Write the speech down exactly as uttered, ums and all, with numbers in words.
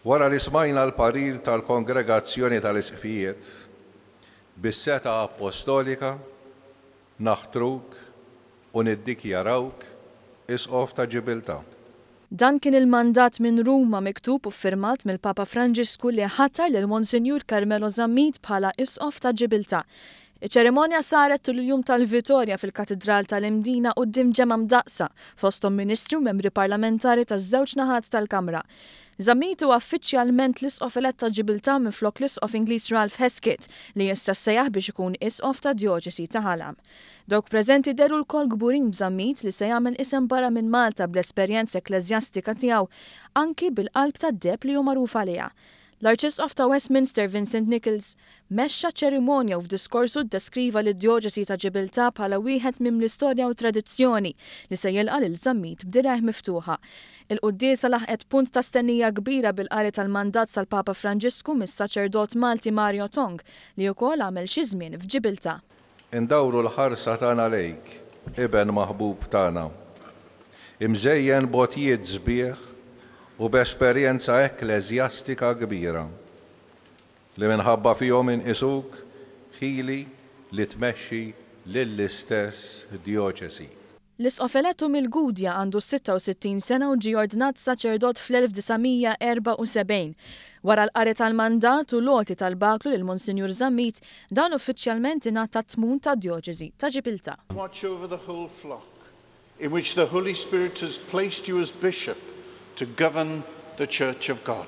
Wara li smajna l-parir tal-Kongregazzjoni tal-Isqfijiet, bis-setgħa appostolika naħtruk u niddikjarawk Isqof ta' Ġibiltà. Dan kien il-mandat minn Ruma, miktub u ffirmat mill-Papa Franġisku, li ħatar lil Monsinjur Carmelo Zammit bħala Isqof ta' Ġibiltà. Iċ-ċerimonja saret tul il-jum tal-Vitorja fil-Katidral tal-Imdina quddiem ġemgħa mdaqqsa, fosthom ministri u membri parlamentari taż-żewġ naħat tal-Kamra. Zammit huwa uffiċjalment l-Isqof elett ta' Ġibiltà minflok l-Isqof Ingliż Ralph Hesketh, li issa sejjaħ biex ikun Isqof ta' Djoċesi ta' Ħal Għamm. Dawk preżenti dehru lkoll kburin b'Zammit, li se jagħmel isem barra minn Malta bl-esperjenza ekkleżjastika tiegħu, anki bil-qalb tad-deheb li hu magħruf għaliha. L-Arċisqof ta' Westminster Vincent Nichols mexxa ċerimonja u f'diskorsu ddeskriva lid-Djoċesi ta' Ġibiltà bħala wieħed mimli storja u tradizzjoni li se jilqa' lil Zammit b'dirgħajh miftuħa. Il-quddiesa laħqet punt ta' stennija kbira bil-qari tal-mandat tal-Papa Franġisku mis-saċerdot Malti Mario Tong, li wkoll għamel xi żmien f'Ġibiltà. Indawru l-ħarsa tagħna lejk, iben maħbub tagħna, imżejjen b'għotjiet sbieħ u b'esperjenza ekkleżjastika kbira, li minħabba fihom inqisuk ħili li tmexxi lill-istess djoċesi. L-Isqof elettu mill-Gudja għandu sitta u sittin sena u ġie ordnat saċerdot fl-elf disa' mija erbgħa u sebgħin. Wara l-qari tal-mandat u l-għoti tal-baklu lil Monsinjur Zammit, dan uffiċjalment ingħata t-tmun ta' djoċesi ta' Ġibiltà. Watch over the whole flock, in which the Holy Spirit has placed you as bishop to govern the Church of God.